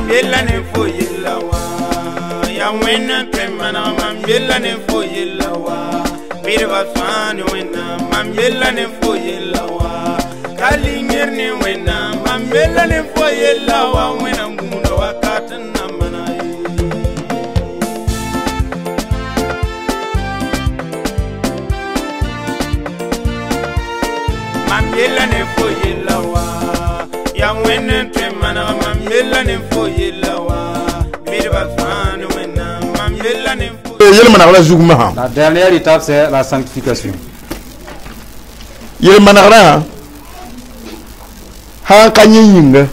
Mam yella ne fo yella wa ya wẽnna tõe n maneg mam yella ne fo yella wa bɩdba fãa ne Wẽnnaam mam yella ne fo yella wa ka linger ne Wẽnnaam mam yella ne fo yella wa Wẽnnaam gũudã wakat n na maneg ye. Mam yella ne fo yella wa ya Wẽnna tõe n maneg mam yella ne fo yella wa bɩdba fãa ne Wẽnnaam mam yella ne fo Yel-manegrã zug masã. La dernière étape, c'est la sanctification. Yel-manegrã sã n ka yẽ yĩnga,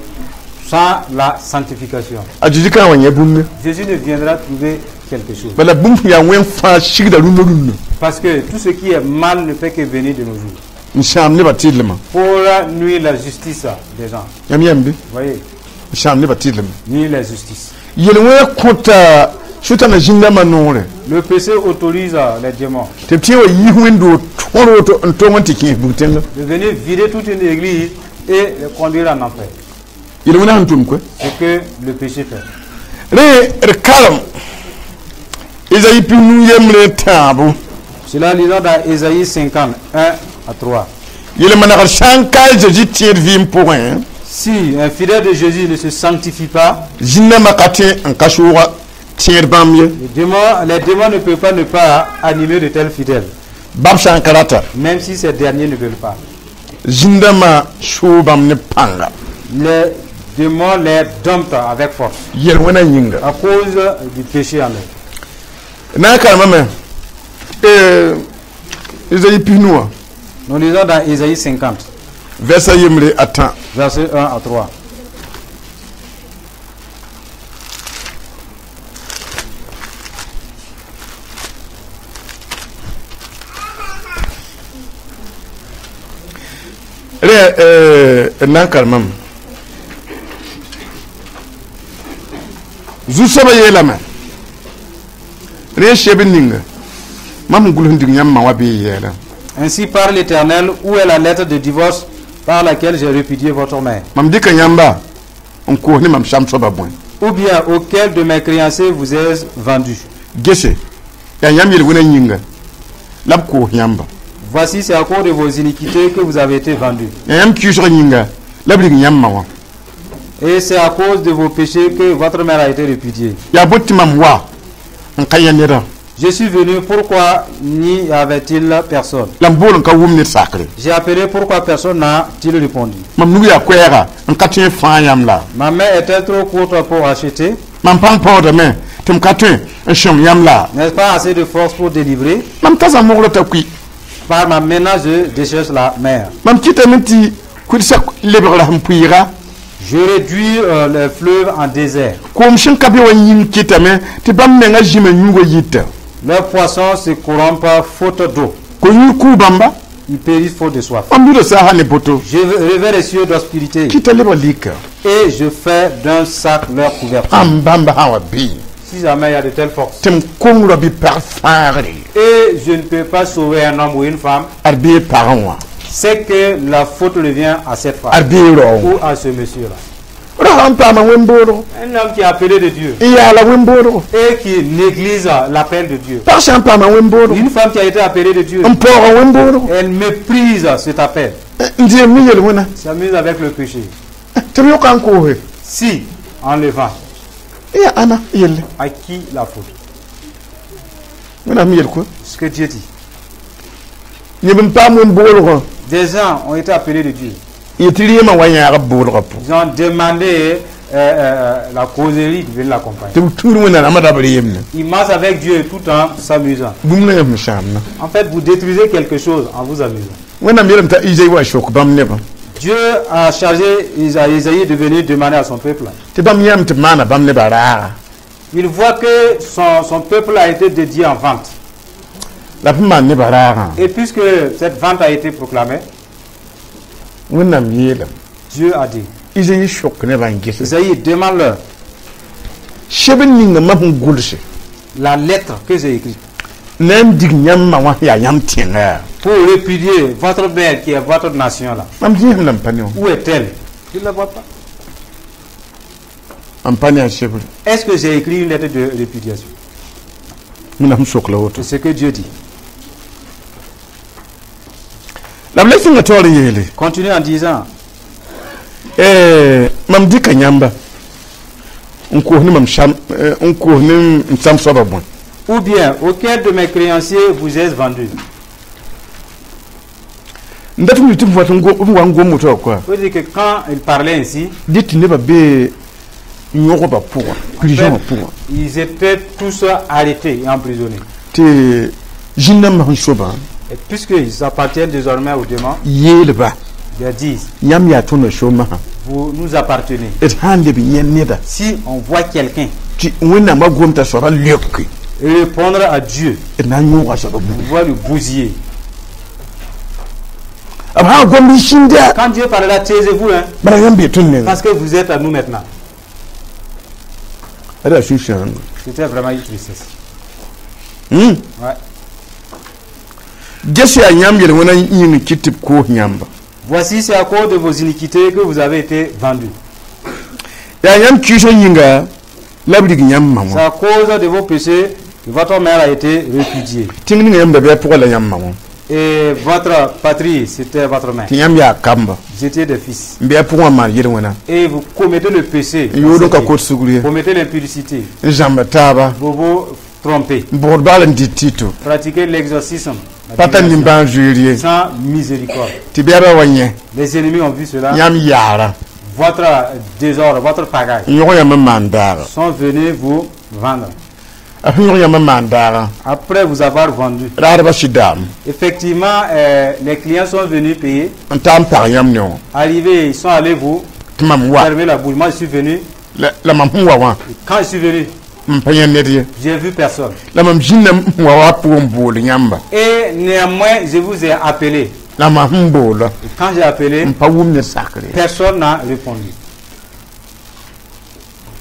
Sans la sanctification, a Zeezi ka wa yẽ bũmb. Jésus ne viendra trouver quelque chose. Bala bũmb sẽn yaa wẽn fãa sigda rũndã rũndã. Parce que tout ce qui est mal ne fait que venir de nos jours. N sãam nebã tɩrlmã. Pour nuire la justice des gens. Yãmb yãmb bɩ? Vous voyez, N sãam nebã tɩrlmã. Nuire la justice. Yel-wẽna kõta Sʋtãna zĩndãmbã noore. Le péché autorise les démons tɩ b tẽ wa yis wẽnd-doog tõr woto n tong n tɩ kẽes bug-tẽnga. De venir vider toute une église et les conduire en enfer. Yel-wẽna sẽn tʋm koe. Ce que le péché fait. Rẽ d karem Ezayi 53 yembre tãabo. Cela, lisons dans Ésaïe 50, 1 à 3. Yel-manegr sã n ka a Zeezi tẽed vɩɩm pʋgẽ, Si un fidèle de Jésus ne se sanctifie pas, zĩndãmbã ka tẽ n ka sʋʋga tẽed bãmb ye. les démons ne peuvent pas ne pas animer de tels fidèles, Bãmb sã n ka rata, même si ces derniers ne veulent pas. Zĩndãmbã sʋʋ bãmb ne pãnga. Les démons les domptent avec force Yel-wẽna yĩnga. À cause du péché en eux. Na n karemame Ezayi 50 wã, Nous lisons dans Ésaïe 50, vɛrsa yembre a tã. Versets 1 à 3. Rẽ d na n karemame zu-soabã yeelame rẽ seb n ninga mam sẽn gʋls n dig yãmb ma wã bɩ y yɛɛla. Ainsi parle l'Éternel, où est la lettre de divorce par laquelle j'ai répudié votre mère? Mam dɩka yãmba n koos ne mam sam soabã bõe? Ou bien auquel de mes créanciers vous ai-je vendu? Gese yaa yãmb yel-wẽna yĩnga la b koos yãmba. Voici, c'est à cause de vos iniquités que vous avez été vendus. Yaa yãmb kɩɩsg yĩnga la b rig yãmb ma wã. Et c'est à cause de vos péchés que votre mère a été répudiée. Yaa bõe tɩ mam wa n ka yã nedã? Je suis venu, pourquoi n'y avait-il personne? La m bool n ka wʋm ned sakre. J'ai appelé, pourquoi personne n'a-t-il répondu? Mam nug yaa koɛɛga n ka tõe n fãag yãmb la? Ma main est-elle trop courte pour acheter? Mam pãng paoodame tɩ m ka tõe n sõng yãmb la? N'est-ce pas assez de force pour délivrer? Mam tasa moglã t'a kui. Par ma menace, je déchèche la mer. Mam kɩtame tɩ kʋlsa lebgra sẽn pʋɩɩga. Je réduis les fleuves en désert. Koom sẽn ka be wã yĩng kɩtame tɩ bãmb mengã zĩma yũugã yita. Leurs poissons se corrompent faute d'eau. Ko-yũud kʋʋ bãmba. Ils périssent faute de soif. Mam buda saasã ne poto. Je revêts les cieux d'obscurité Kɩta lebg lika. Et je fais d'un sac leur couverture. Ãmb bãmba sã wa bee, Si jamais il y a de telles forces, tɩ m kong ra bɩ pag fãagre, et je ne peux pas sauver un homme ou une femme, ad bee pagẽ wã, c'est que la faute revient à cette femme ad bee rao ou à ce monsieur-là. Ra sã n paama wẽn-boodgo, Un homme qui est appelé de Dieu n yaala wẽn-boodgo, et qui néglige l'appel de Dieu. Pag sã n paama wẽn-boodgo, Une femme qui a été appelée de Dieu, n paooga wẽn-boodgo, elle méprise cet appel, n dɩem ne yel-wẽna, s'amuse avec le péché. Tɩ b yõka n koose. Si, en le vend, Yaa ãna yelle? À qui la faute? Wẽnnaam yel koe. Ce que Dieu dit. Neb n paam wẽn-boolgã, Des gens ont été appelés de Dieu. Yetɩ rɩɩmã wa yãag b boolgã pʋgẽ. Ils ont demandé la causerie de venir l'accompagner. Tɩ b tuur wẽnnaam rab reemne. Ils marchent avec Dieu tout en s'amusant. Bũmb na yãmb sãamna. En fait, vous détruisez quelque chose en vous amusant. Wẽnnaam yeelame t'a Izayi wa sok bãmb nebã. Dieu a chargé Isaïe de venir demander à son peuple. Tɩ bãmb yãmb tɩ b maana bãmb nebã raaga. Il voit que son peuple a été dédié en vente. La b maan nebã raagã, Et puisque cette vente a été proclamée, Wẽnnaam yeelame, Dieu a dit, Izayi sok nebã n gese, Isaïe, demande-leur seb n ninga mam sẽn gʋlse la lettre que j'ai écrite na n dig yãmb ma wã yaa yãmb tẽnga, pour répudier votre mère qui est votre nation là. Mam zĩisem la n pa ne wã. Où est-elle? Je ne la vois pas. N pa ne a sebre? Est-ce que j'ai écrit une lettre de répudiation? Wẽnnaam sok la woto. C'est ce que Dieu dit. La b le sẽnga taoor n yeele. Continue en disant, Eh, mam dɩka yãmba n koos ne mam sam eh, n koos ne m sam soabã bõe? Ou bien, auquel de mes créanciers vous ai-je vendu? N dat n tɩ f wat n wa n gom woto wã koa. Il faut dire que quand il parlait ainsi, Dɩ tɩ nebã bee yõgba pʋgã, prison wã pʋgã. Ils étaient tous arrêtés et emprisonnés. Tɩ zĩn-dãmbã sẽn sobã Et puisqu'ils appartiennent désormais aux démons, yeelba ils disent, yãmb yaa tõndã somasã vous nous appartenez. D sã n leb yẽ neda Si on voit quelqu'un tɩ Wẽnnaamã gom t'a soabã leoke répondre à Dieu, d na n yõoga soabã on bugi. Va le bousiller. B sã n gomd sĩnda Quand Dieu parlera, taisez-vous, hein, bala yãmb bee tõnd nenga. Parce que vous êtes à nous maintenant. Ada sũ-sãoonga. C'était vraiment une tristesse. Ouais. Ges yaa yãmb yel-wẽna yĩng kɩt tɩ b koos yãmba. Voici, c'est à cause de vos iniquités que vous avez été vendus. Yaa yãmb kiisã yĩnga la b rig yãmb ma C'est wã. à cause de vos péchés que votre mère a été répudiée. Tẽng ninga yãmb da bɩ a pʋgã la yãmb ma wã. Et votre patrie, c'était votre mère. Tɩ yãmb yaa kamba Vous étiez des fils. n bɩ a pʋgã wã maan yel-wẽna. Et vous commettez le péché. N yood n ka kot sugr ye. Vous commettez l'impudicité. N zãmba taaba. Vous vous trompez. N bʋgd bagl n dɩt tɩto. Pratiquez l'exorcisme, la Pa tar divination, nimbãan zoeer ye. sans miséricorde. Tɩ bɛɛbã wa yẽ Les ennemis ont vu cela. yãmb yaara. Votre désordre, votre pagaille N yõg yãmb n maan daaga. sont venus vous vendre. A sẽn yõg yãmb n maan daaga Après vous avoir vendu, raadbã sɩd daam effectivement, les clients sont venus payer. n taa n pag yãmb ne wã. Arrivés, ils sont allés vous Tɩ mam wa fermer la bouche. Moi, je suis venu. la la mam sẽn wa wã Quand je suis venu, m pa yẽ ned ye. j'ai vu personne. La mam zĩnda n wa wa pʋgẽ n bool yãmba. Et néanmoins, je vous ai appelé. La mam sẽn boola Et quand j'ai appelé, n pa wʋm ne sakre ye. Personne n'a répondu.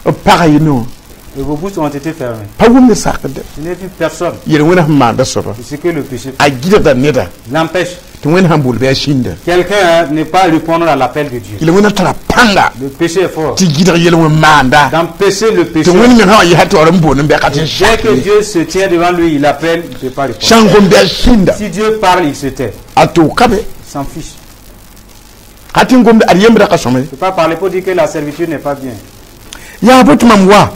B paga ye ne wã. Et vos bouches ont été fermées. Pa wʋm ne sakr de. Je n'ai vu personne. Yel-wẽna sẽn maanda soaba C'est ce que le péché a gɩdgda neda l'empêche. Tɩ Wẽnd sãn bool bɩ a sĩnda. Quelqu'un, hein, n'est pas répondre à l'appel de Dieu. Yel-wẽna tara pãnga Le péché est fort. tɩ gɩdg yel-wẽn maanda. D'empêcher le péché. Tɩ Wẽnd me sã wa yɛsa taoor n boond n bɩ ka tɩ Dès que sakre. Dieu se tient devant lui, il appelle, il ne peut pas répondre. Sã n gom bɩ a sĩnda. Si Dieu parle, il se tait. A tʋʋg ka be. Il s'en fiche. Ka tɩ n gomd ad yembra ka sõma ye. Il ne peut pas parler pour dire que la servitude n'est pas bien. Yaa bõ tɩ mam wa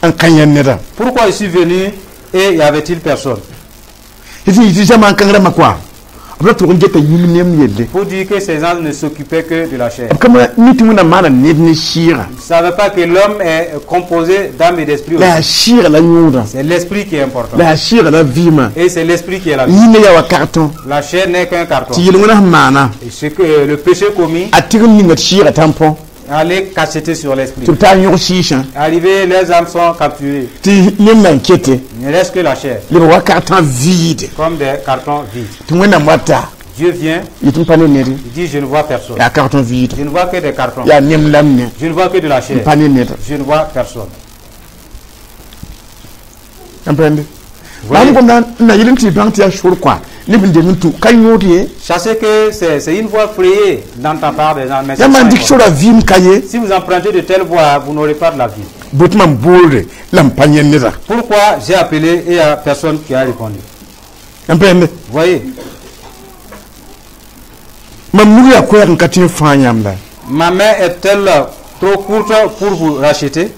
n ka yẽ neda. Pourquoi je suis venu et y avait-il personne? Tɩ sẽn yɩ tɩ zamaan kãng rãmbã kɔa b ra tʋg n geta yĩng nem yelle. Pour dire que ces gens ne s'occupaient que de la chair. B ka mi tɩ Wẽnnaam maana ned ne sɩɩgã. Ils ne savaient pas que l'homme est composé d'âme et d'esprit La yaa aussi. sɩɩgã la yõodã. C'est l'esprit qui est important. La yaa sɩɩgã la vɩɩmã. Et c'est l'esprit qui est la vie. Yĩngã yaa wa carton. La chair n'est qu'un carton. Tɩ yel-wẽnã sẽn maana Et ce que le péché commis, a tɩg n ninga tɩ sɩɩgã tãmpõ allait cacheter sur l'esprit. tɩ b taa n yõg sɩɩsã. Arrivé, les âmes sont capturées. Tɩ neb nan kete Il ne reste que la chair, leb wa carton vide. Comme des cartons vides. Tɩ Wẽnnaam wata Dieu vient, yetɩ m pa ne ned. Il dit: je ne vois personne. Yaa carton vide. Je ne vois que des cartons. Yaa nem lam ne. Je ne vois que de la M chair. pa ne ned. Je ne vois personne. N pẽnde bãmb gomda n na yel n tɩ bãng tɩ yaa sor kɔa neb n deng n tũ ka yõod ye. Sachez que c'est une voie frayée d'entendre par des gens. Mais c'est Yãmb pas n une dɩk voie. sora vɩɩm ka ye. Si vous empruntez de telles voies, vous n'aurez pas de la vie. Bõe tɩ mam boolde la m pa yẽ neda? Pourquoi j'ai appelé et il n'y a personne qui a répondu? N pẽnde. Vous voyez, Mam nug yaa koɛɛg n ka tɩ n fãa yãmb la. Ma main est-elle trop courte pour vous racheter?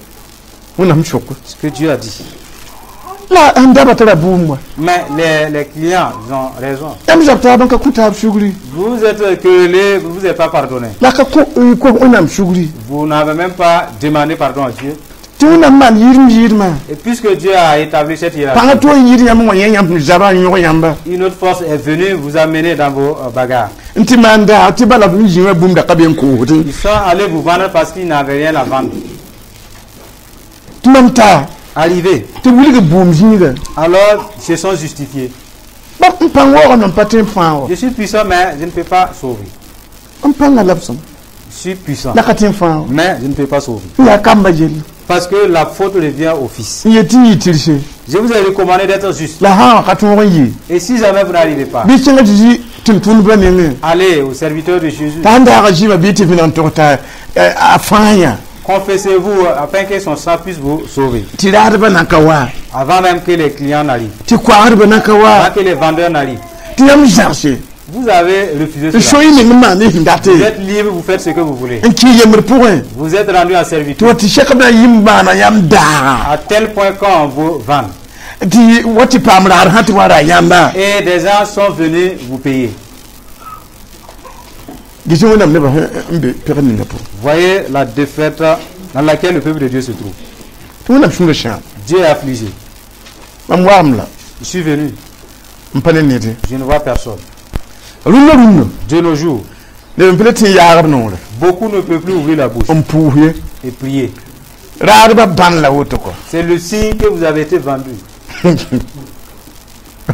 Wẽnnaam sok. Ce que Dieu a dit. La sẽn daba tara bʋʋm wa. Mais les clients, ils ont raison. Yãmb zab taab n ka kõ taab sugri. Vous êtes querellés, vous ne vous êtes pas pardonné. La ka kõ Wẽnnaam sugri. Vous n'avez même pas demandé pardon à Dieu. Tɩ Wẽnnaam maan yɩɩdem yɩɩdmã. Et puisque Dieu a établi cette hiérarchie, Pãngã tʋg n yɩɩd yãmb n wa yẽ yãmb sẽn zaba n yõg yãmba. Une autre force est venue vous amener dans vos bagarres. N tɩ maan daag tɩ bala b zĩ wã bũmb da ka be n koosdẽ. Ils sont allés vous vendre parce qu'ils n'avaient rien à vendre. Tɩ mam taa Arrivé, tɩ wilg bʋʋm zĩiga. Alors ils se sont justifiés. Ba n pãng waoogame n pa tõe n fãag wa. Je suis puissant, mais je ne peux pas sauver. N pãngã la b sõm. Je suis puissant, La ka tõe n fãag wa. Mais je ne peux pas sauver. N yaa kamba yelle. Parce que la faute revient au fils. N yet tɩ n yɩ tɩrse. Je vous ai recommandé d'être juste. La sã n ka tõog n yɩ. Et si jamais vous n'arrivez pas, Bɩ kẽngã tɩ zĩ tʋm-tʋmdbã nengẽ. Allez au serviteur de Jésus. T'a sẽn daaga zĩma bɩ tɩ vẽneg n tog t'a a fãag yã. Confessez-vous afin que son sang puisse vous sauver. Tɩ raadbã na n ka wa. Avant même que les clients n'arrivent. Tɩ koaagdbã na n ka wa. Avant que les vendeurs n'arrivent. Tɩ yãmb zãgse. Vous avez refusé cela. So y meng n maan ne sẽn date. Vous êtes libre, vous faites ce que vous voulez. N kɩ yembr pʋgẽ. Vous êtes rendu en Tɩ servitude. wa tɩ sɛkb na n yɩ n maana yãmb daaga. À tel point qu'on vous vend. Tɩ wa tɩ paam raad sã tɩ wa ra yãmba. Et des gens sont venus vous payer. Gɩs Wẽnnaam nebã sẽn be pɛgr ninga pʋgẽ. Voyez la défaite dans laquelle le peuple de Dieu se trouve. Tɩ Wẽnnaam sũurã sãam. Dieu est affligé. Mam waam la. Je suis venu. N pa ne ned. Je ne vois personne. Rũndã rũndã. De nos jours, Neb n pa le tɩ n yaagb noore. beaucoup ne peuvent plus ouvrir la bouche N pʋʋs ye. et prier. Raadbã bãn la woto kɔ. C'est le signe que vous avez été vendu.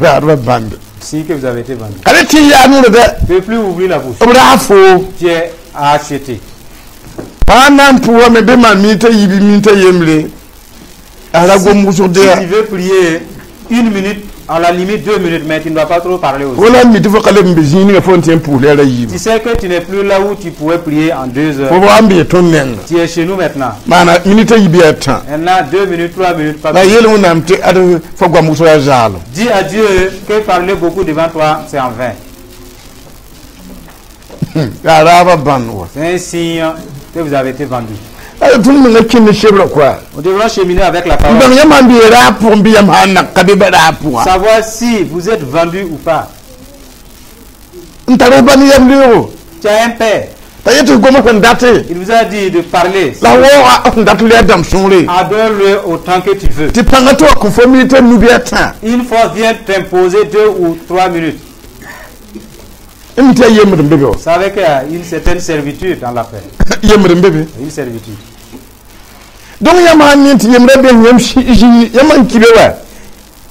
Raadbã bãnde. Signe que vous avez été vendu. Ka le tɩ n yaag noore dɛ. Ne peut plus ouvrir la bouche. B raag foo. Tu es acheté. Paa na n pʋʋsame bɩ maan minita yiib minita yembre. A ra gom wʋsg Si dɩ tu veux prier une minute, à la limite 2 minutes, mais tu ne dois pas trop parler aussi. wala n mi tɩ fo ka leb n be zĩig ninga fo n tɩ n pʋʋs la ra yiib. Tu sais que tu n'es plus là où tu pourrais prier en 2 heures. Fo wa n bee tõnd nenga. Tu es chez nous maintenant. Maana minita yiib yaa tã. Maintenant, 2 minutes, 3 minutes, pas La plus. yeel Wẽnnaam tɩ ad fo goam wʋsg yaa zaalem. Dis à Dieu que parler beaucoup devant toi, c'est en vain. Yaa raabã bãnd wa. C'est un signe que vous avez été vendu. La tõnd menga kẽnd sebrã koa. Nous devrons cheminer avec la N parole. bãng yãmb sãn bee raab pʋgẽ bɩ yãmb sã n nak ka be ba raab pʋga. Savoir si vous êtes vendu ou pas. N tar f ba ne yam leoogo. Tu as un père. T'a yet tɩ goma sẽn date. Il vous a dit de parler. La waooga sẽn dat la dãmb sõngre. Adore-le autant que tu veux. Tɩ pãngã tɩ wa kõ fo minita nu bɩ a tã. Une fois vient t'imposer 2 ou 3 minutes. M mi tɩ yaa yembd n be be wa. Vous savez qu'il y a une certaine servitude dans la paix. Yembd n be be. Une servitude. Donc yãmb sãn ne tɩ yembrã be yãmb zĩig yãmb n ki be wa.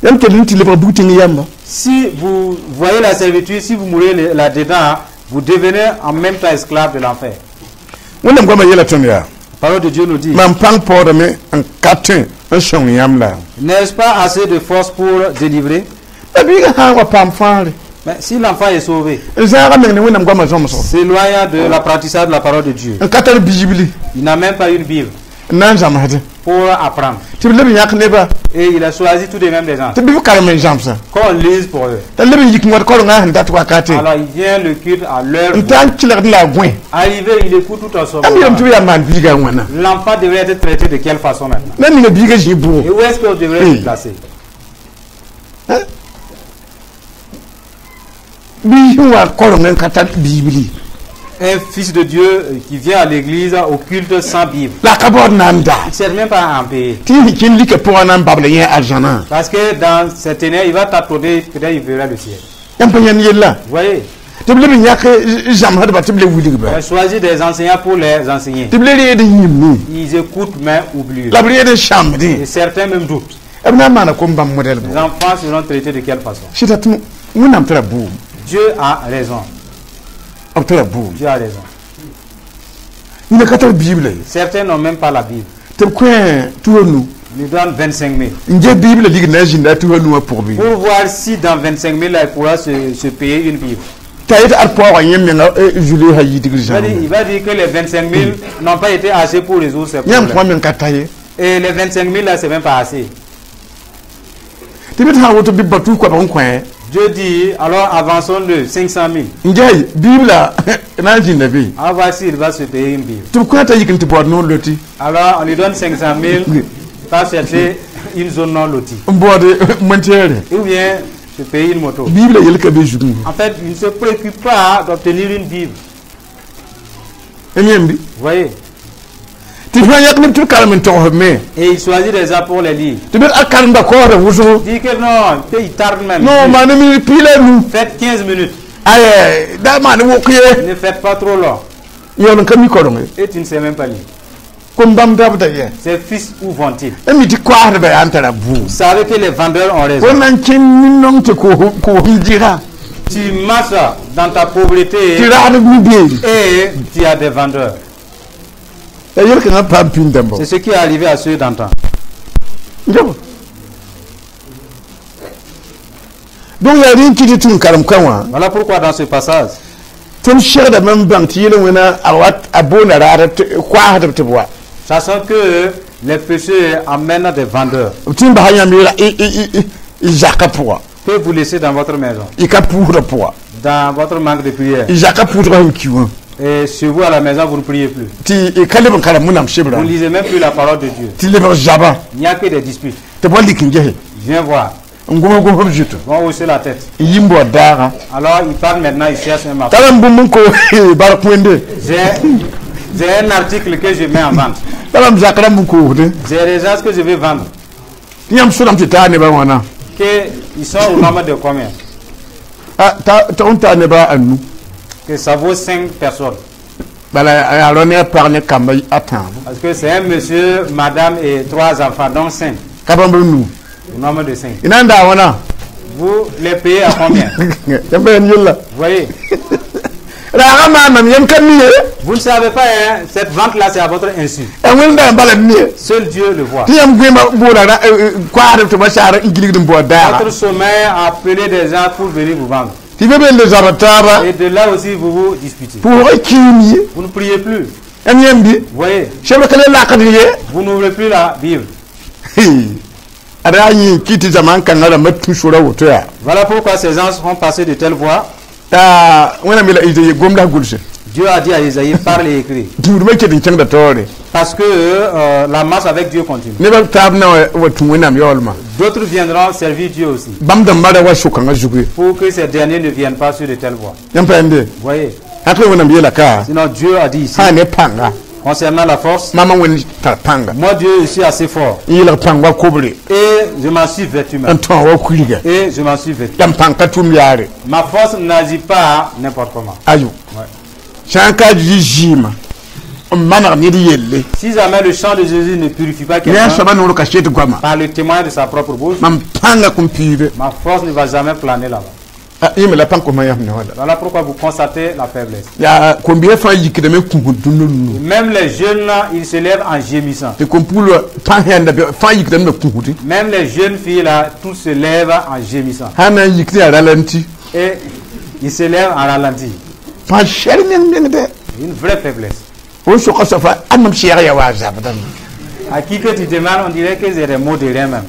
Yãmb kell n tɩ lebg bug-tẽng yãmba. Si vous voyez la servitude, si vous mourrez là-dedans, vous devenez en même temps esclave de l'enfer. Wẽnnaam goamã yeela tõnd yaa. La parole de Dieu nous dit, Mam pãng paoodame n ka tõe n sõng yãmb la. n'est-ce pas assez de force pour délivrer? La biigã sã n wa paam fãagre. Mais si l'enfant est sauvé, N zãaga meng ne Wẽnnaam goamã zãmsgo. s'éloignant de l'apprentissage de la parole de Dieu, N ka tar biibli. il n'a même pas une Bible N na n zãmsdẽ. pour apprendre. Tɩ b leb n yãk nebã. Et il a choisi tout de même des gens. Tɩ bɩ b karem n zãmsã. Qu'on lise pour eux. T'a leb n yik n wat korengã sẽn dat wakate. Alors il vient le culte à l'heure. N taa n kelgd la a gõe. Arrivé, il écoute tout en son Yãmb yeelame tɩ b yaa n maan biigã wãna. L'enfant devrait être traité de quelle façon maintenant? Na ninga biigã zĩig Et bʋgo. où est-ce qu'on devrait Oui. le placer? Biig sẽn wa koreng n ka tar biibli. Un fils de Dieu qui vient à l'église au culte sans Bible. La ka baood na n daa. Il ne sert même pas à en payer. Tɩ yẽ kẽnd lika pʋgã na n babla yẽ arzãnã. Parce que dans cette année, il va tâtonner, peut-être il verra le ciel. Yãmb pa yãnd yella. Vous voyez, Tɩ b leb n yãk zãmsdba tɩ b le wilgba. il a choisi des enseignants pour les enseigner. Tɩ b le reed n yĩmmi. Ils écoutent mais oublient. La b reed n sãmbdẽ. Et certains même doutent. B na n maana kom-bãmb modɛl Les bʋ. enfants seront traités de quelle façon? Sɩda tɩ Wẽnnaam tara bʋʋm. Dieu a raison. B tara bʋʋm. Dieu a raison. Yĩnga ka tar biibla ye. Certains n'ont même pas la Bible. Tɩ b kõ 500. Ils lui donnent 25 000. N ge biibla ligd na n zĩnda a 500 wã pʋg bɩ. Pour voir si dans 25 000, là, il pourra se payer une Bible. T'a yet ad paoogã yẽ menga zulesã yidgr Il va dire, zãmb. il va dire que les 25 000 n'ont pas été assez pour résoudre ces Yãmb problèmes. kõa meng ka ta ye. Et les 25 000 là, c'est même pas assez. Tɩ bɩ tɩ sã n woto bɩ ba tus koabg n kõ. Dieu dit, alors avançons de 500 000. N ges biibla na n zĩnda be. On va voir s'il va se payer une Bible. Tɩ b kõ t'a yik n tɩ baood noor loti. Alors, on lui donne 500 000, va chercher une zone non lotie. N baood montɛɛre. Ou bien se payer une moto. Biibla yel ka be zugẽ. En fait, il ne se préoccupe pas d'obtenir une Bible. M yẽmbi. Vous voyez? Tɩ fãa yãk neb tɩ b karem n togs me. Et il choisit des gens pour les lire. Tɩ b a karemba kaooda wʋsgo. Il dit que non, il tarde même. Non, maan minit piig la nu. Faites 15 minutes. Ay, da maan wʋk ye. Ne faites pas trop long. Yaool n ka mi koreng ye. Et tu ne sais même pas lire. Kom-bãmb dabda ye. Ces fils, où vont-ils? M mi tɩ koaasdbã yaa n tara bʋʋm. Vous savez que les vendeurs ont raison. Fo na n kẽnd nin-nong tɩ koosem dɩga. Tu marches dans ta pauvreté Tɩ ragdb mi beere. et tu as des vendeurs. La yel-kãngã paam pĩnd dãmba. C'est ce qui est arrivé à ceux d'antan. Njaba. Donc yaa rẽ n kɩt tɩ n karem ka wã. Voilà pourquoi dans ce passage, Tõnd segdame n bãng tɩ yel-wẽna a wat a boonda raadb tɩ koaasdb tɩ b wa. Sachant que les péchés amènent des vendeurs B tɩ n basa yãmb y zakã pʋga, que vous laissez dans votre maison, y ka pʋʋsdã pʋga, dans votre manque de prière. Y zakã pʋʋsgã sẽn ki wã. Et chez vous à la maison, vous ne priez plus. Tɩ y ka leb n karem Wẽnnaam sebrã. Vous ne lisez même plus la parole de Dieu. Tɩ lebg zabã. Il n'y a que des disputes. Tɩ b wa lik n gese. Viens voir. N gom gom b zutu. Ils vont hausser la tête. N yi n baood daaga. Alors, il parle maintenant, il cherche un marché. Tara n bũmb n ko bark wẽnde. J'ai un article que je mets en vente. Tara m zak rãmb n koosde. J'ai des gens que je vais vendre. Tɩ yãmb sʋdame tɩ taa nebã wãna? Que ils sont au nombre de combien? Tɩ n taa nebã a nu. Que ça vaut 5 personnes. Bala yaa rao ne a pag ne kamba a tãabo. Parce que c'est un monsieur, madame et trois enfants, donc 5. Ka bãmb nu. Au nombre de 5. Y na n daa wãna? Vous les payez à combien? Yãmb pa yãmb yella. Vous voyez? Raagã maanam yãmb ka mi ye. Vous ne savez pas, hein, cette vente-là, c'est à votre insu. A Wẽnda n bala m mi ye. Seul Dieu le voit. Tɩ yãmb goẽmã boola koaadb tɩ ba saar n gilgd n baood daaga. Votre sommeil a appelé des gens pour venir vous vendre. Tɩ be be n le zabd taaba. Et de là aussi, vous vous disputez. Pʋʋgã kiim ye. Vous ne priez plus. Yãmb yãmb bɩ? Vous voyez? Sebr ka le lakd ye. Vous n'ouvrez plus la Bible. Ad yaa yẽ kɩ tɩ zaman kãngã rãmbã tũ sora woto yaa. Voilà pourquoi ces gens ont passé de telles voies. T'a Wẽnnaam yeela Izayi gomda gʋlse. Dieu a dit à Isaïe, parle et écris. Tũudmã ket n kẽngda taoore. Parce que la marche avec Dieu continue. Nebã b taab na wa tũ Wẽnnaam yaoolmã. D'autres viendront servir Dieu aussi. Bãmb dãmbã ra wa so-kãngã zugu ye. Pour que ces derniers ne viennent pas sur de telles voies. Yãmb pa yãmbe? Vous voyez? Hãk la Wẽnnaam yeela ka. Sinon, Dieu a dit ici, sã n ne pãnga, concernant la force, maamã Wẽnd tar pãnga. moi Dieu, je suis assez fort. N yeelg pãng wa kobre. Et je m'en suis vêtu N même. tõa wa kuiga. Et je m'en suis vêtu. La m pãng ka tʋm yaare. Ma force n'agit pas n'importe comment. Ayo. Ouais. Sã n ka yi zɩɩmã n maneg ned yelle, Si jamais le sang de Jésus ne purifie pas ne a quelqu'un soabã noor kaset goama, par le témoignage de sa propre bouche, mam pãngã kõn piibe. ma force ne va jamais planer là-bas. Yẽ me la pãng kosmã yãmb ne wala. Voilà pourquoi vous constatez la faiblesse. Yaa kom-biisã fãa yikdame n kũsd dũnna rũnnu. Même les jeunes, ils se lèvent en gémissant. Tɩ kom-puglã pãng yãnda fãa yikdame la kũsde. Même les jeunes filles, là, tous se lèvent en gémissant. Sã n na n yik tɩ yaa ralenti. Et ils se lèvent en ralenti. Pãng sɛr meng mengdɛ. Une vraie faiblesse. Fo soka soaba a mam sɛɛg ya wa a zabdame. À qui que tu demandes, on dirait que c'est des mots de rien même.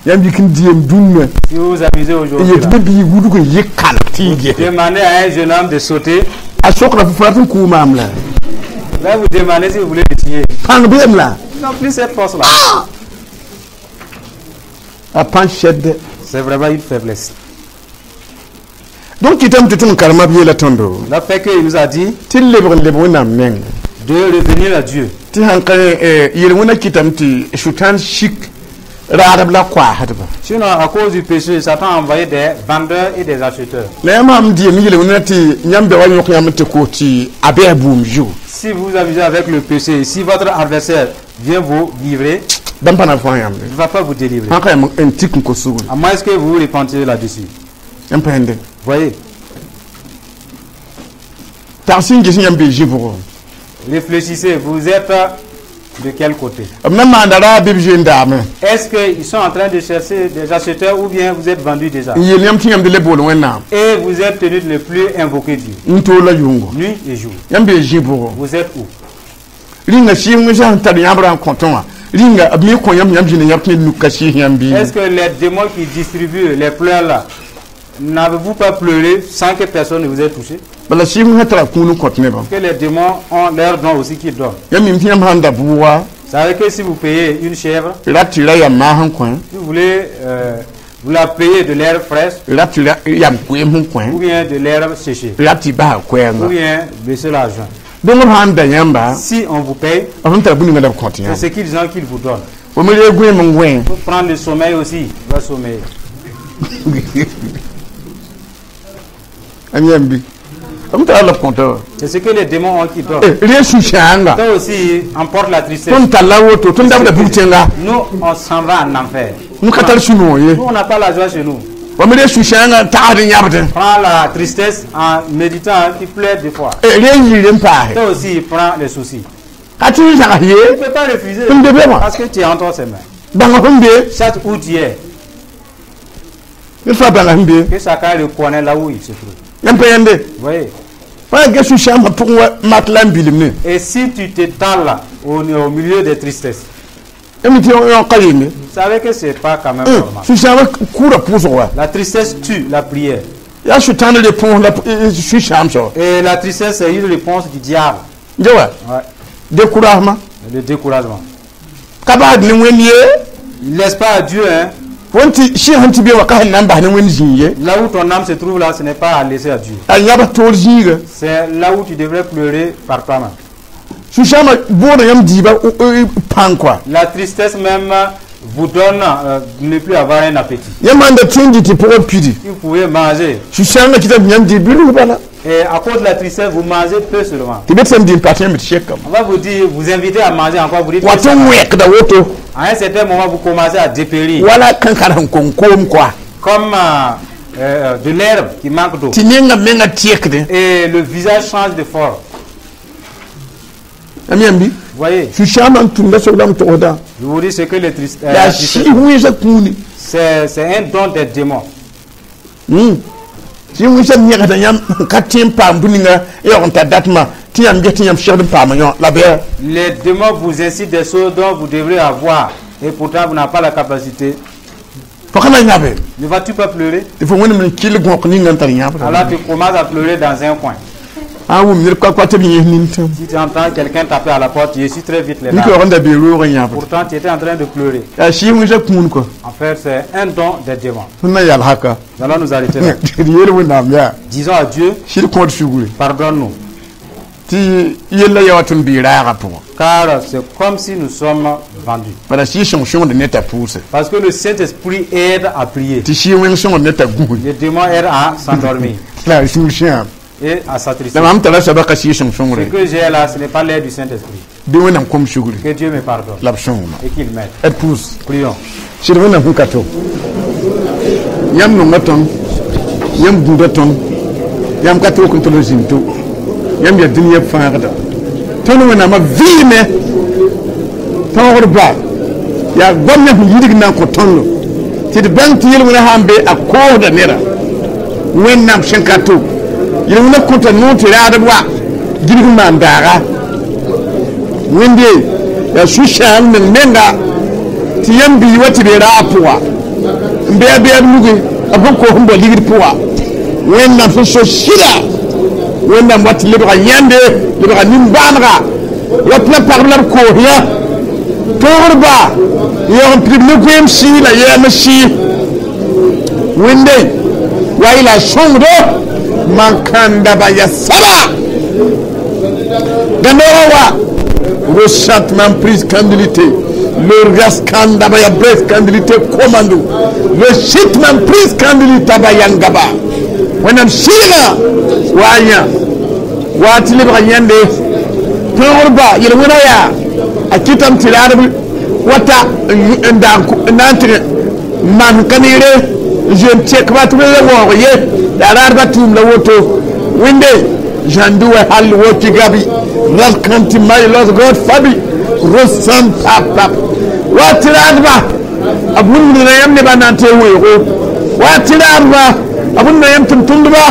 Yãmb yik n dɩem dũnna. Si vous vous amusez aujourd'hui, n yet là, bɩ bii wudg n yɩ kalg tɩ y gese. demandez à un jeune homme de sauter, A sokra fo fãa tɩ n kʋʋ maam la. là vous demandez si vous voulez le tuer. Pãng beem la. Ils n'ont plus cette force-là. A pãng sɛdde. C'est vraiment une faiblesse. Donc kɩtame tɩ tõnd karema b yeela tõndo La fait qu'il nous a dit tɩ lebg n leb Wẽnnaam meng, de revenir à Dieu. Tɩ sãn ka yel-wẽna kɩtame tɩ sʋtãan sik raadb la koaasdba. Sinon, à cause du péché, Satan a envoyé des vendeurs et des acheteurs. La yãmb sãm dɩem yel-wẽna tɩ yãmb da wa yõk yãmb tɩ koos tɩ a bɩa buum zugu, Si vous vous amusez avec le péché, si votre adversaire vient vous livrer, bãmb pa na n fãag yãmb. il ne va pas vous délivrer. Sãn ka yãmb n tik n kos sugr. À moins que vous vous repentiez là-dessus. Yãmb pa yẽnde? Voyez, Tags n ges yãmb bee zĩ-bʋgo. réfléchissez, vous êtes de quel côté? B na maanda raab bɩ b zoe n daame. Est-ce qu'ils sont en train de chercher des acheteurs ou bien vous êtes vendu déjà? N yeel yãmb tɩ yãmb d le bool Wẽnnaam. Et vous êtes tenu de ne plus invoquer Dieu, N toor la yʋngo. nuit et jour. Yãmb bee zĩ-bʋgo. Vous êtes où? Rĩnga sɩɩg sã n tar yãmb rã n kõtẽ wã rĩnga b me kõ yãmb yãmb zĩnd yãmb tɩ ned nuk ka sɩɩs yãmb bɩ? Est-ce que les démons qui distribuent les pleurs là, n'avez-vous pas pleuré sans que personne ne vous ait touché? Bala sɩɩg sã tara kũun n kõt nebã. Que les démons ont leur don aussi qu'ils donnent. Yãmb mim tɩ yãmb sã n da bʋʋga, Savez que si vous payez une chèvre, rat tɩ ra yam maas n kõ, si vous voulez, vous la payez de l'herbe fraîche rat tɩ ra yam koeem sẽn kõ, ou bien de l'herbe séchée, rat tɩ basa ou koɛɛnga. bien baisser l'argent. Donc b sã n da yãmba, Si on vous paye, b sẽn tar bũmb ninga la b kõt c'est yãmb. ce qu'ils ont qu'ils vous donnent. Fo me reeg gõeem n gõe. Pour prendre le sommeil aussi, il va sommeiller. Am yãmb bɩ b tara la b kõta wa. C'est ce que les démons ont qui donnent. Reeg sũ-sãanga. Toi aussi, emporte la tristesse. Tõnd talla woto tõnd dabda bug tẽnga. Nous, on s'en va en enfer. N ka tar sũ-noog ye. Nous, on n'a pas la joie chez nous. Wa me reeg sũ-sãanga n tagsd n yãbdẽ. Prends la tristesse en méditant, tu pleures des fois. Reeg yɩɩr n paase. Toi aussi, prends les soucis. Ka tɩ n zãgs ye. Tu ne peux pas refuser N be be wã. parce que tu es entre ses mains. Bãnga sẽn be. Chaque où tu es, Ned fãa bãnga sẽn be. que chacun le connaît là où il se trouve. Yãmb pa yãnde? Vous voyez? Fãa ge sũ-sãambã pʋgẽ wa mat la n bilim ne. Et si tu t'étales au milieu des tristesses, yãmb tɩ yõ ka yembe. Vous savez que c'est pas quand même normal. Sũ-sãambã kʋʋra pʋʋsg wa. La tristesse tue la prière. Yaa sʋtãan réponse la sũ-sãam soaba. Et la tristesse, c'est une réponse du diable. Ge wa. Ouais. Découragement. Le découragement. Ka basd ne Wẽnd ye. Il ne laisse pas à Dieu, hein. Fo tɩ sɩɩg sẽn tɩ be wã ka sẽn na n bas ne Wẽnd zĩig ye. Là où ton âme se trouve là, ce n'est pas à laisser à Dieu. A yãbs toor zĩiga. C'est là où tu devrais pleurer par toi-même. Sũ-sãambã booda yãmb diibã pãng koa. La tristesse même vous donne de ne plus avoir un appétit. Yãmb sãn da tẽ n dɩ tɩ pʋgã pidi. Si vous pouvez manger, Sũ-sãangã kɩtame tɩ yãmb dɩ bilg bala. Et à cause de la tristesse, vous mangez peu seulement. Tɩ be tɩ sẽn dɩ n pa tẽem tɩ sekame. On va vous dire, vous inviter à manger encore, vous dites, Wa tɩ n wẽkda woto. À un certain moment, vous commencez à dépérir. Wala kankar sẽn kong koom koa. Comme de l'herbe qui manque d'eau. Tɩ nenga menga tɩekdẽ. Et le visage change de forme. Yãmb yãmb bɩ. Vous voyez, Sũ-sãambã n tũnda soabdame togsdã. Je vous dis ce que les tristes, Yaa la tristesse, sɩɩs wẽnsã kũuni. c'est un don des démons. Tɩ wẽnsã yẽgsda yãmb n ka tẽ n paam bũ-ninga y yaoog n tar datmã tɩ yãmb ges tɩ yãmb segd n paama yõ la bɩ. Les démons vous incitent des choses dont vous devrez avoir et pourtant vous n'avez pas la capacité. Fo ka na yãbe. Ne vas-tu pas pleurer? Tɩ fo Wẽnnaam n kɩl gõk ninga n tar yãbda. Alors tu commences à pleurer dans un coin. A wʋm ned ka tɩ b yẽs nintãm. Si tu entends quelqu'un taper à la porte, tu essuies très vite les Nika larmes. yaoog n da bee roog n yãbd. Pourtant tu étais en train de pleurer. Yaa sɩɩs wẽnsã kũun kɔ. En fait, c'est un don des démons. Tõnd na yal haka. Nous allons nous arrêter là. D yeel Wẽnnaam yaa. Disons à Dieu, Sɩd kõod sugri. Pardonne-nous. Tɩ yella ya wa tõnd bɩ raagã pʋgã. Car c'est comme si nous sommes vendus. Bala sɩɩg sõng sõngd ne t'a pʋʋse. Parce que le Saint-Esprit aide à prier. Tɩ sɩɩg wẽng sõngd ne t'a gũsd. Le démon aide à s'endormir La a sũur sãam. Et à s'attrister. La mam tara soaba ka sɩɩg sõng Ce sõngre. que j'ai là, ce n'est pas l'aide du Saint-Esprit. Bɩ Wẽnnaam kom sugri. Que Dieu me pardonne La b sõngma. Et qu'il m'aide. D pʋʋs. Prions. Sɩd Wẽnnaam sẽn ka to. Yãmb nonga tõnd. Yãmb gũuda tõnd. Yãmb ka tʋk n tʋl n zĩnd to. Yãmb yaa dũniyã fãagda. Tõnd Wẽnnaamã vɩɩme. Tõogd ba. Yaa goamã sẽn yidg n na n kõ tõndo. Tɩ d bãng tɩ yel-wẽna sã n be a koosda neda. Wẽnnaam sẽn ka to. Yel-wẽna kõta noor tɩ raadb wa gilg n maan daaga. Wẽnde yaa sũ-sãam meng menga tɩ yãmb bii wa tɩ be raag pʋga n bɩ a beeb nugi a bõn koos n bao ligd pʋga. Wẽnnaam sẽn so sɩda Wẽnnaam wa tɩ lebga yãnde lebga nin-bãanega rap la pagb la b koos yã tõogd ba yaoog n pidb ne goeem sɩɩ la yɛɛm sɩɩ Wẽnde wa y la sõngdo man kãnda ba ya saba gãnoogã wa ressentiment prise candidité le ras kanda ba ya bres candidité commando le shitman prise candidité ba yangaba Wẽnnaam sɩɩga wa yã wa tɩ lebga yãnde tõogd ba yel-wẽna yaa a kɩtame tɩ raadb wata n dag n na n tɩg maan ka neere n zoeem tɛkba tɩ b la waoog ye la raadbã tʋʋm la woto Wẽnde zãndu wa hal woti gabi ras kãntɩ may los god fabi rosãn pap pap wa tɩ raadba b wũmdna yãmb nebã na n tɩ weoogo wa tɩ raadba b wũmda yãmb tʋm-tʋmdba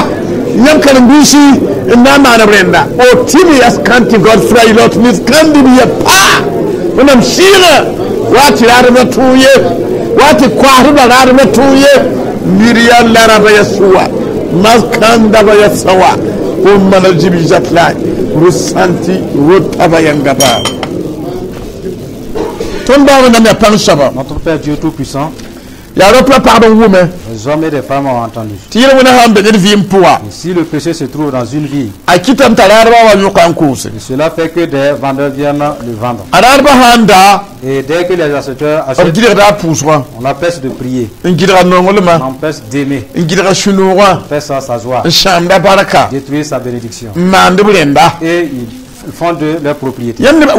yãmb karen-biisi n na n maan b rẽnda o tɩ yas kãntɩ god fray lot nis kãndi b ya paa Wẽnnaam sɩɩgã wa tɩ raadbã tʋʋ ye wa tɩ koasdbã raadbã tʋʋ ye miriya laraba ya sʋwa maskandaba ya sawa ko mana jibi zatla rusanti rotaba yangaba tõnd ba Wẽnnaam yaa pãng soaba. Notre Père Dieu Tout-Puissant, Yaa rap la pagb n wʋme. Les hommes et les femmes ont entendu. Tɩ yel-wẽna sã n be ned vɩɩm pʋga. Et si le péché se trouve dans une vie, A kɩtame t'a raadbã wa yõka n koose. Et cela fait que des vendeurs viennent le vendre. A raadbã sã n daa Et dès que les acheteurs b achètent, gɩdgda a pʋʋsgã. On l'empêche de prier, N gɩdga nonglmã. On l'empêche d'aimer, N gɩdga sũ-noogã. On empêche sa joie, N sãamda barka. Détruire sa bénédiction. N maand b rẽnda. Et ils font de leur propriété. Yãmb nebã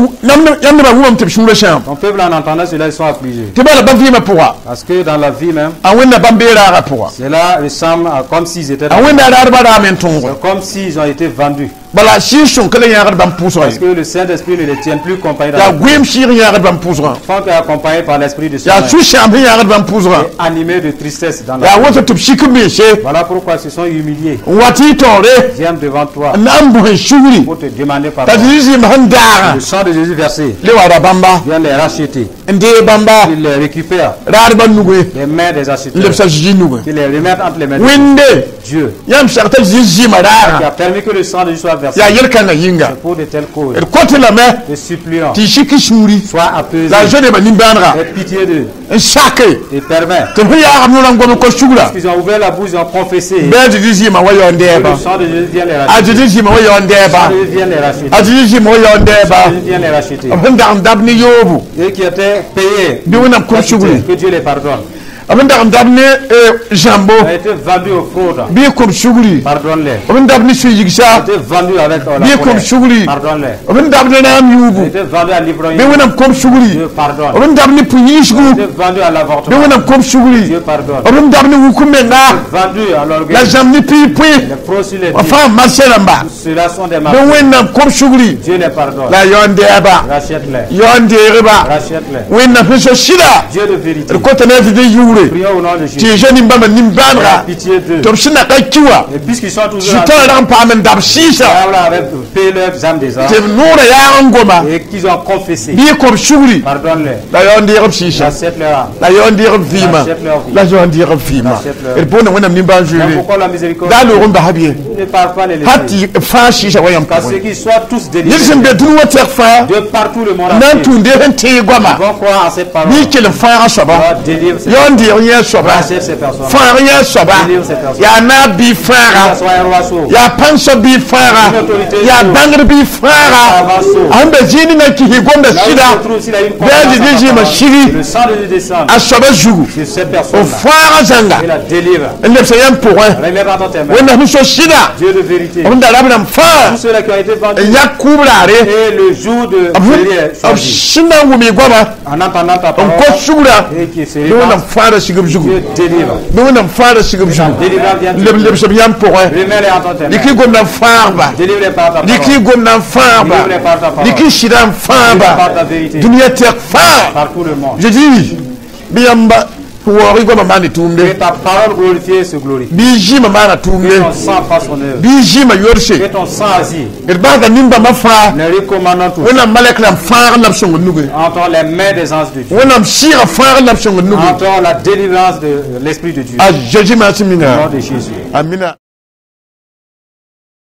wʋmame tɩ b sũurã sãam. Ton peuple, en entendant cela, ils sont affligés. Tɩ bala bãmb vɩɩmã pʋga. Parce que dans la vie même, A Wẽnna bãmb bee raagã pʋga. Cela ressemble à comme s'ils étaient A Wẽnda raadbã raame n tõoge. C'est comme s'ils ont été vendus. Bala sɩɩg-sõng ka le yãagd bãmb pʋʋsgã Parce ye. que le Saint-Esprit ne les tient plus compagnie dans Yaa la goeem sɩɩg yãagd bãmb pʋʋsgã. Franc est accompagné par l'Esprit de son Yaa âme sũ-sãam sẽn yãagd bãmb pʋʋsgã. Et animé de tristesse dans la Yaa woto tɩ b sik n mense. Voilà pourquoi ils se sont humiliés. N wa tɩ y taoore. Viennent devant toi N na n bʋs n sugri. Pour te demander pardon. T'a Zezi zɩɩm sẽn daagã Le sang de Jésus versé le wa ra bãmba vient les racheter. N deeg bãmba Il les récupère raadbã nugẽ des mains des n acheteurs. lebsa Zezi nugẽ. Il les remet entre les mains de Wẽnde Dieu yãmb sag t'a Zezi zɩɩmã qui raagã a permis que le sang de Jésus soit versé yaa yel-kãngã yĩnga. Pour de telles causes. D kõtɩ lame Te supplions, tɩ y sik y sũuri sois apaisé, la a zoe-nebã nimbãanega aie pitié d'eux n sake et permets. Tɩ b sẽn yaagb noorã n gom n kos sugra. Ils ont ouvert la bouche, ils ont confessé. Bɩ a Zezi zɩɩmã wa yaoon Que dɛɛba. le sang de Jésus vient les A racheter. Zezi zɩɩmã wa yaoon Le dɛɛba. sang de Jésus vient les racheter. A Zezi zɩɩmã wa yaoon dɛɛba. Jésus vient les racheter. B sẽn dag n dab ne yoobo Et qui étaient payés. bɩ Wẽnnaam kõ sugri. Que Dieu les pardonne. B sẽn dag n dab ne zãmbo Ils ont été vendus aux fraudes. bɩ y kom sugri. Pardonne-les. B sẽn dab ne sũ-yigsa Ils ont été vendus avec la bɩ y kom colère. sugri. Pardonne-les. B sẽn dab ne naam Ils ont yuubu été vendus à l'ivrognerie. bɩ Wẽnnaam kom sugri. Dieu pardonne. B sẽn dab ne pʋ-yĩnsgu Ils ont été vendus à bɩ l'avortement. Wẽnnaam kom sugri. Dieu pardonne. B sẽn dab ne wuk menga Vendus à l'orgueil. La zãmb ne pii pʋɩ Les fraudes sur les b fãa marsɛ rãmba Ceux-là sont des bɩ martyrs. Wẽnnaam kom sugri. Dieu les pardonne. La yaoon dɛɛba Rachète-les. yaoon deegba Rachète-les. Wẽnnaam sẽn so sɩda Dieu de vérité. D kota ne a Zezi yʋʋre Prions au nom de tɩ Jésus. y zoe nin-bãmba nimbãanega Pitié d'eux. Tɩ b sẽn na ka ki wã Et puisqu'ils sont toujours en Sʋtãan rag n paam n dab sɩɩsa Diable avait payé leurs âmes des tɩ b noorã yaag n goma et qu'ils ont confessé. Bɩ y kom sugri. Pardonne-les. La yaoon deeg b sɩɩsa. Rachète leur âme. La yaoon deeg b vɩɩmã. La yaoon deeg b vɩɩmã. D boonda Wẽnnaam nimbãan Mais zoeere pourquoi la miséricorde daa loog n basa b ye ne parle pas les hal laisser? Tɩ fãa sɩɩsa wa yãmb Qu'à ceux pʋgẽ qui soient tous ned délivrés. Sẽn be dũni wã tɛk fãa De partout le monde n na n entier. tũud sẽn tẽeg goama Ils vont croire en cette parole. Bɩ y kell n fãagã soaba God délivre ces yaoon deeg yẽ soaba Rachète ces personnes. Fãag yẽ soaba yaa naab bɩ fãaga Que ce soit un roi sourd. Yaa pãn-soab bɩ fãaga yaa bãngd bɩ fãaga a sẽn be zĩig ninga kis gomda Là où il sɩda se trouve, s'il a une bɩ a confiance Zezi en sa zɩɩmã parole, sigi le sang de Jésus descend a soaba zugu sur cette b personne-là fãagã zãnga et la délivre. N lebsa yãmb pʋgẽ Remets dans tes mains. Wẽnnaam sẽn so sɩda Dieu de vérité. B sẽn da rab rãmb fãa Tous ceux-là qui ont été vendus. N yak kʋʋb raare Et le jour de Jésus est b choisi. Sẽn na n wʋm y goama En entendant ta n parole kos sugra et qui se bɩ Wẽnnaam répand, fãada sig b zugu Dieu délivre. Bɩ Wẽnnaam fãada sig b zugu Délivrance vient. Leb lebs b yãmb pʋgẽ Remets-les entre tes dɩk y mains. gomda n fãagba Délivre-les par ta dɩk y parole. gomda n fãagba dɩk y sɩda n fãagba Par ta vérité. Dũniyã tɛk fãa. Par tout le monde. Je dis bɩ yãmba waoog y goamã maand Que tʋʋmde ta parole glorifiée se glorifie. Bɩ y zɩɩmã maana Que tʋʋmde ton sang fasse son œuvre. Bɩ y zɩɩmã yodse Que ton sang agisse. D basda nin-bãmbã fãa Les recommandons tous. Wẽnnaam malɛk rãmb fãagr la b sõng nugẽ Entends les mains des anges de Dieu. Wẽnnaam sɩɩgã fãagr la b sõng nugẽ Entends la délivrance de l'Esprit de Dieu. A Zeezi maa sẽn Au minga nom de Jésus. Amina.